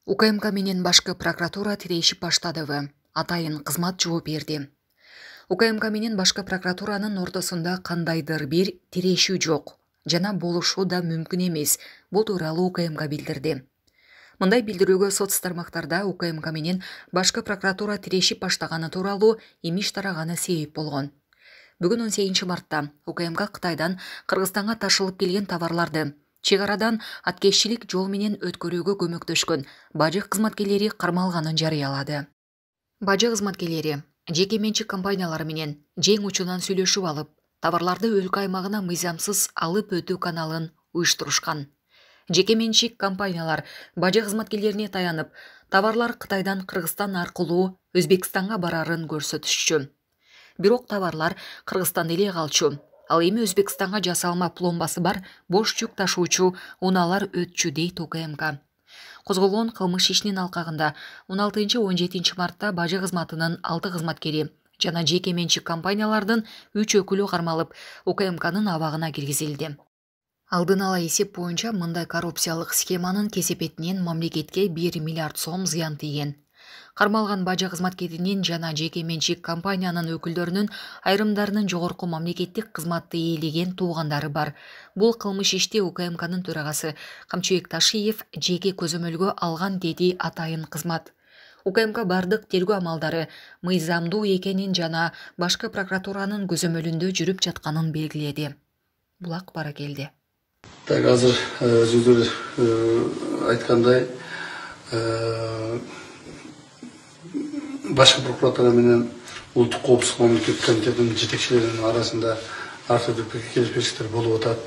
УКМК менен башкы прокуратура тирешип баштадыбы? Атайын кызмат жооп берди. УКМК менен башкы прокуратуранын ортосунда кандайдыр бир тирешүү жок жана болушу да мүмкүн эмес. Бул тууралуу УКМК билдирди. Мындай билдирүүгө соц тармактарда УКМК менен башкы прокуратура тирешип баштаганы тууралуу имиш тараганы себеп болгон. Бүгүн 18 мартта УКМК Кытайдан Кыргызстанга ташылып келген товарларды чек арадан аткезчилик жол менен өткөрүүгө көмөктөшкөн бажы кызматкерлери кармалганын жарыялады. Бажы кызматкерлери жеке менчик компаниялар менен жең учунан сүйлөшүп алып, товарларды өлкө аймагына мыйзамсыз алып өтүү каналын уюштурушкан. Жеке менчик компаниялар бажы кызматкерлерине таянып, товарлар Кытайдан Кыргызстан аркылуу Өзбекстанга барарын көрсөтүшчү. Бирок товарлар Кыргызстанда эле калчу. Ал эми Өзбекстанга жасалма пломбасы бар бош жүк ташуучу унаалар өтчү дейт УКМК. Козголгон кылмыш ишинин алкагында 16-17 мартта бажы кызматынын 6 кызматкери жана жеке менчик компаниялардын 3 өкүлү кармалып, УКМКнын абагына киргизилди. Алдын ала эсеп боюнча мындай коррупциялык схеманын кесепетинен мамлекетке 1 миллиард сом зыян тийген. Кармалган бажы кызматкеринин жана жеке менчик компаниянын өкүлдөрүнүн айрымдарынын жогорку мамлекеттик кызматты ээлеген туугандары бар. Бул кылмыш ишти УКМКнын төрагасы Камчыбек Ташиев жеке көзөмөлгө алган, деди атайын кызмат. УКМК бардык тергөө амалдары мыйзамдуу экенин жана башкы прокуратуранын көзөмөлүндө жүрүп жатканын белгиледи. Булак Баракелди. Так, азыр өзүңүздөр айткандай, башкы прокуратура менен улуттук коопсуздук мамлекеттик комитетинин жетекчилеринин арасында ар түрдүү келишпестиктер болуп атат.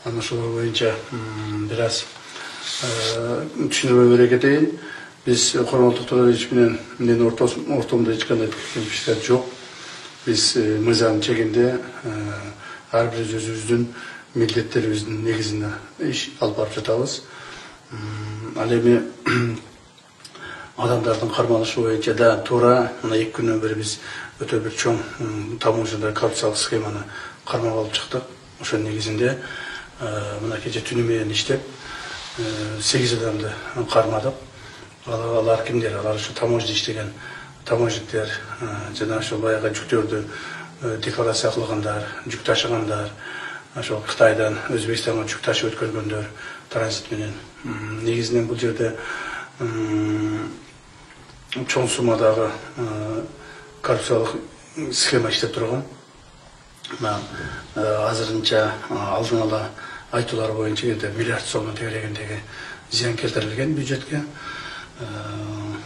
Анан ошол боюнча бир аз түшүндүрмө бере кетейин. Биз Курманбек Токтогулович менен ортомдо эч кандай келишпестиктер жок. Биз мыйзам чегинде ар бир өзүбүздүн милдеттерибиздин негизинде иш алып барып жатабыз. Ал эми адамдардын кармалышы боюнча да туура мына 2 күндөн бери биз өтө бир чоң таможняда коррупциялык схеманы кармап алып чыктык. Ошонун негизинде мына кече түнү менен иштеп 8 адамды кармадык. Алар кимдер? Алар ушу таможняда иштеген таможниктер жана ошо баягы жүктөрдү декларация кылгандар, жүк ташыгандар, ошол Кытайдан Өзбекстанга жүк ташып өткөргөндөр транзит менен. Негизинен бул жерде чоң суммадагы коррупциялык схема иштеп турган. Азырынча алдын ала айтуулар боюнча миллиард сомдон тегерегиндеги зыян келтирилген бюджетке.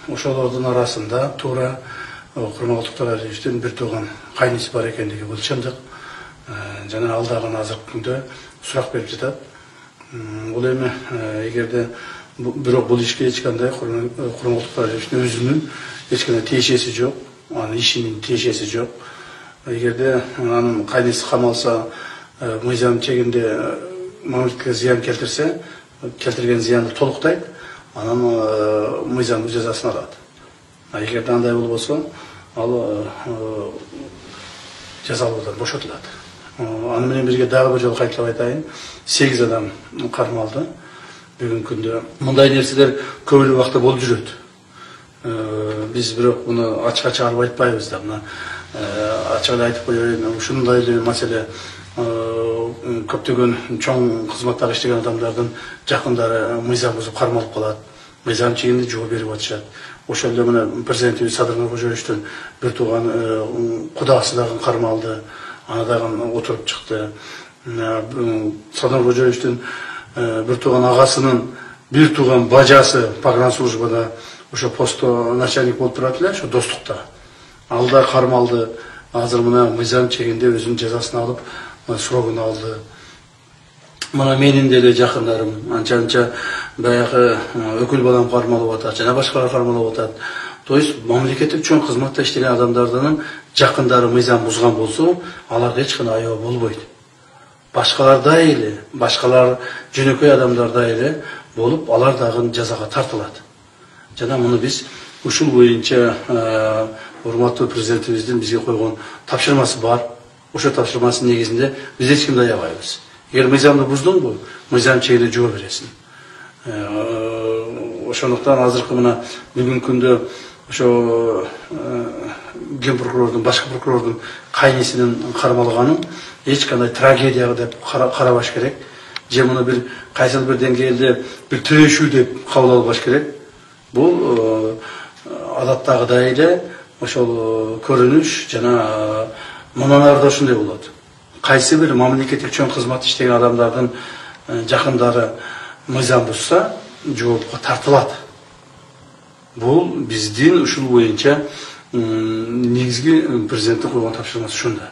Ошолордун арасында туура Курманбек Токтогуловичтин бир тууган кайниси бар экендиги бул чындык. Жана ал дагы азыркы күндө сурак берип жатат. Бул эми эгерде бирок бул ишке эч кандай Курманбек Токтогуловичтин өзүнүн эч кандай тиешеси жок, анын ишинин тиешеси жок. Эгерде анын кайниси камалса, мыйзам чегинде мамлекетке зыян келтирсе, келтирген зыянды толуктайт, анан мыйзамдуу жазасын алат. Эгерде андай болбосо, ал жазалуудан бошотулат. Аны менен бирге дагы бир жолу кайталап айтайын, 8 адам кармалды. Бүгүнкү күндө мындай нерселер көп эле убакта болуп жүрөт. Биз бирок муну ачык чыгарып айтпайбыз да. Мына ачык эле айтып коеюн, ушундай эле маселе көптөгөн чоң кызматтагы иштеген адамдардын жакындары мыйзам бузуп кармалып калат. Мыйзам чегинде жооп берип атышат. Ошол эле мына президентибиз Садыр Нуркожоевичтин бир тууган кудасы дагы кармалды. Аны дагы отуруп чыкты. Садыр Нуркожоевичтин бир тууган агасынын бир тууган бажасы погранслужбада ошо постто начальник болуп турат эле, ошо достукта. Ал да кармалды. Азыр мына мыйзам чегинде өзүнүн жазасын алып, срогун алды. Мына менин деле жакындарым анча баягы өкүл балам кармалып атат, жана башкалар кармалып атат. То есть мамлекеттик чоң кызматта иштеген адамдардын жакындары мыйзам бузган болсо, аларга эч кандай аябы болбойт. Башкалардай эле, башкалар жөнөкөй адамдардай эле болуп, алар дагы жазага тартылат. Жана муну биз ушул боюнча урматтуу президентибиздин бизге койгон тапшырмасы бар. Ошо тапшырмасынын негизинде биз эч кимди аябайбыз. Эгер мыйзамды буздуңбу, мыйзам чегинде жооп бересиң. Ошондуктан азыркы мына бүгүнкү күндө ошо ген прокурордун, башкы прокурордун кайнисинин кармалганын эч кандай трагедия деп карабаш керек. Же муну бир кайсыл бир деңгээлде бир тирешүү деп кабыл албаш керек. Бул адаттагыдай эле ошол көрүнүш жана мындан ары да ушундай болот. Кайсы бир мамлекеттик чоң кызмат иштеген адамдардын жакындары мыйзам бузса, жоопко тартылат. Бул биздин ушул боюнча негизги президенттин койгон тапшырмасы ушунда.